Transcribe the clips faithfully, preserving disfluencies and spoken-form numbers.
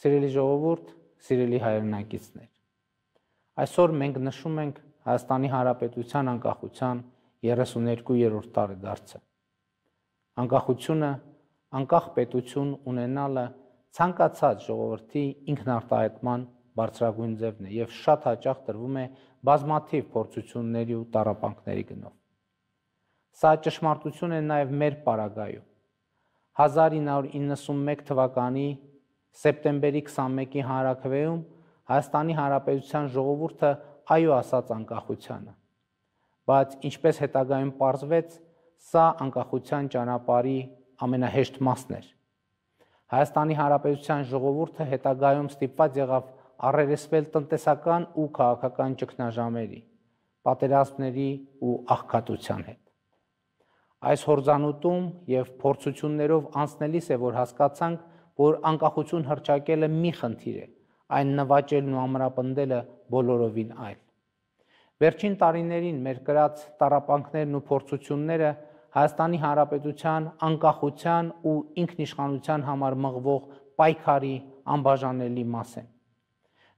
Սիրելի ժողովուրդ, սիրելի հայրենակիցներ, այսօր մենք նշում ենք Հայաստանի Հանրապետության անկախության երեսուներկուերորդ տարեդարձը։ Անկախությունը, անկախ պետություն ունենալը ցանկացած ժողովրդի ինքնարտահայտման բարձրագույն ձևն է եւ շատ հաճախ տրվում է բազմաթիվ փորձությունների ու տառապանքների գնով։ Սա ճշմարտություն է նաեւ մեր պարագայում։ հազար ինը հարյուր իննսունմեկ թվականի սեպտեմբերի քսանմեկի հանրաքվեում Հայաստանի Հանրապետության ժողովուրդը այո ասաց անկախությանը, բայց ինչպես հետագայում պարզվեց, սա անկախության ճանապարհի ամենահեշտ մասն էր։ Հայաստանի Հանրապետության ժողովուրդը հետագայում ստիպված եղավ առերեսվել տնտեսական ու քաղաքական ճգնաժամերի, պատերազմների ու աղքատության հետ։ Այս հորձանուտում եւ փորձություններով անցնելիս է, որ հասկացանք, որ անկախություն հռչակելը մի խնդիր է, այն նվաճելն ու ամրապնդելը բոլորովին այլ։ Վերջին տարիներին մեր կրած տառապանքներն ու փորձությունները Հայաստանի Հանրապետության անկախության ու ինքնիշխանության համար մղվող պայքարի անբաժանելի մաս են։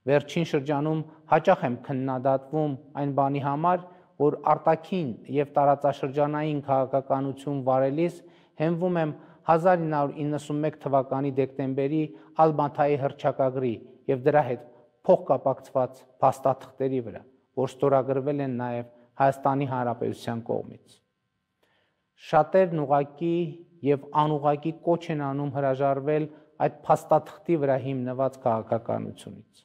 Վերջին շրջանում հաճախ եմ քննադատվում այն բանի համար, որ արտաքին եւ տարածաշրջանային քաղաքականություն վարելիս հենվում եմ հազար ինը հարյուր իննսունմեկ թվականի դեկտեմբերի Ալմաթայի հռչակագրի եւ դրա հետ փոխկապակցված փաստաթղթերի վրա, որ ստորագրվել են նաեւ Հայաստանի Հանրապետության կողմից։ Շատերն ուղղակի եւ անուղղակի կոչ են անում հրաժարվել այդ փաստաթղթի վրա հիմնված քաղաքականությունից։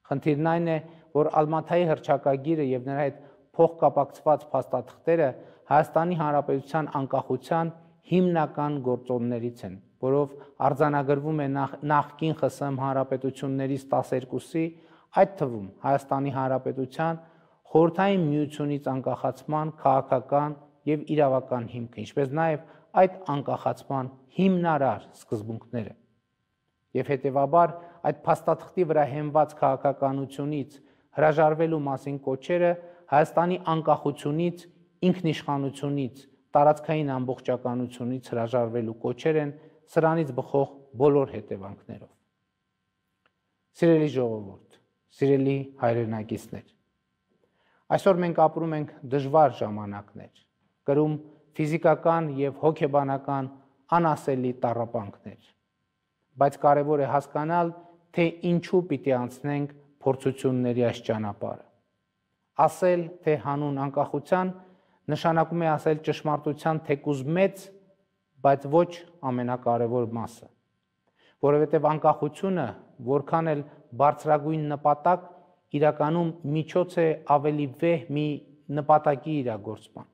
Խնդիրն այն է, որ Ալմաթայի հռչակագիրը եւ նրա հետ փոխկապակցված փաստաթղթերը Հայաստանի Հանրապետության անկախության հիմնական գործոններից են, որով արձանագրվում է նախ, նախկին ԽՍՀՄ հանրապետություններից տասներկուսի, այդ թվում Հայաստանի Հանրապետության խորհրդային միությունից անկախացման քաղաքական եւ իրավական հիմքը, ինչպես նաեւ այդ անկախացման հիմնարար սկզբունքները։ Եվ հետեւաբար այդ փաստաթղթի վրա հենված քաղաքականությունից հրաժարվելու մասին կոչերը Հայաստանի անկախությունից, ինքնիշխանությունից, տարածքային ամբողջականությունից հրաժարվելու կոչեր են սրանից բխող բոլոր հետևանքներով։ Սիրելի ժողովուրդ, սիրելի հայրենակիցներ, այսօր մենք ապրում ենք դժվար ժամանակներ, կրում ֆիզիկական եւ հոգեբանական անասելի տառապանքներ, բայց կարևոր է հասկանալ, թե ինչու պիտի անցնենք փորձությունների այս ճանապարհը։ Ասել, թե հանուն անկախության նշանակում է ասել ճշմարտության թեկուզ մեծ, բայց ոչ ամենակարևոր մասը, որովհետև անկախությունը, որքան էլ բարձրագույն նպատակ, իրականում միջոց է ավելի վեհ մի նպատակի իրագործման։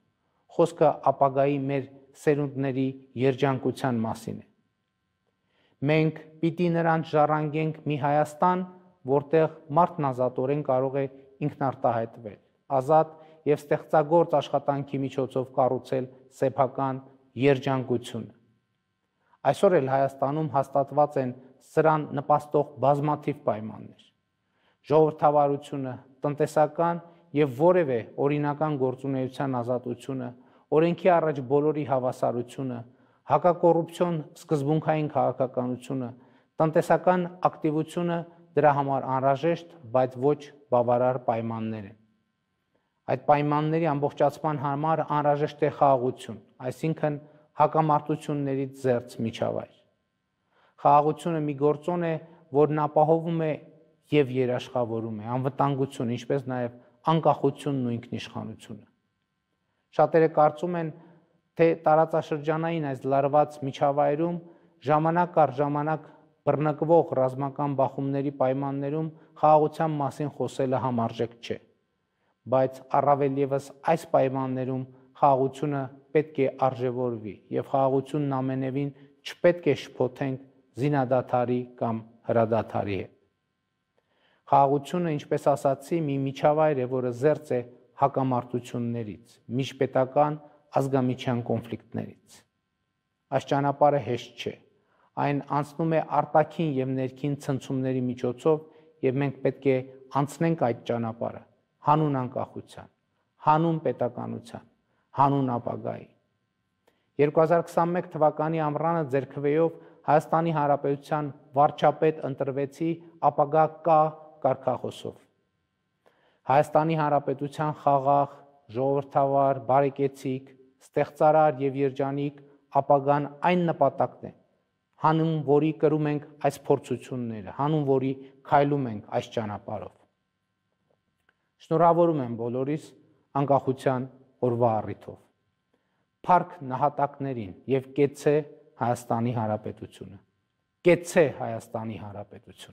Խոսքը ապագայի մեր սերունդների երջանկության մասին է։ Մենք պիտի նրանց ժառանգենք մի Հայաստան, որտեղ մարդն ազատորեն կարող է ինքնարտահայտվել, ազատ եւ ստեղծագործ աշխատանքի միջոցով կառուցել սեփական երջանկությունը։ Այսօր էլ Հայաստանում հաստատված են սրան նպաստող բազմաթիվ պայմաններ։ Ժողովրդավարությունը, տնտեսական եւ որևէ օրինական գործունեության ազատությունը, օրենքի առաջ բոլորի հավասարությունը, հակակոռուպցիոն սկզբունքային քաղաքականությունը, տնտեսական ակտիվությունը դրա համար անհրաժեշտ, բայց ոչ բավարար պայմաններ են։ Այդ պայմանների ամբողջացման համար անհրաժեշտ է խաղաղություն, այսինքն հակամարտություններից զերծ միջավայր։ Խաղաղությունը մի գործոն է, որն ապահովում է եւ երաշխավորում է անվտանգություն, ինչպես նաեւ անկախությունն ու ինքնիշխանությունը։ Շատերը կարծում են, թե տարածաշրջանային այս լարված միջավայրում ժամանակ առ ժամանակ բռնկվող ռազմական բախումների պայմաններում խաղաղության մասին խոսելը համարժեք չէ, բայց առավել ևս այս պայմաններում խաղաղությունը պետք է արժևորվի եւ խաղաղությունն ամենևին չպետք է շփոթենք զինադադարի կամ հրադադարի հետ։ Խաղաղությունը, ինչպես ասացի, մի միջավայր է, որը զերծ է հակամարտություններից, միջպետական ազգամիջյան կոնֆլիկտներից։ Այս ճանապարհը հեշտ չէ, այն անցնում է արտաքին եւ ներքին ցնցումների միջոցով եւ մենք պետք է անցնենք այդ ճանապարհը հանուն անկախության, հանուն պետականության, հանուն ապագայի։ երկու հազար քսանմեկ թվականի ամռանը ձեռքվեով Հայաստանի Հանրապետության վարչապետ ընտրվեցի ապագա կա կարգախոսով։ Հայաստանի Հանրապետության խաղաղ, ժողովրդավար, բարեկեցիկ, ստեղծարար եւ երջանիկ ապագան այն նպատակն է, հանուն որի կրում ենք այս փորձությունները, հանուն որի քայլում ենք այս ճանապարհով։ Շնորհավորում եմ բոլորիս անկախության օրվա առիթով։ Փառք նահատակներին եւ կեցցե Հայաստանի Հանրապետությունը։ Կեցցե Հայաստանի Հանրապետությունը։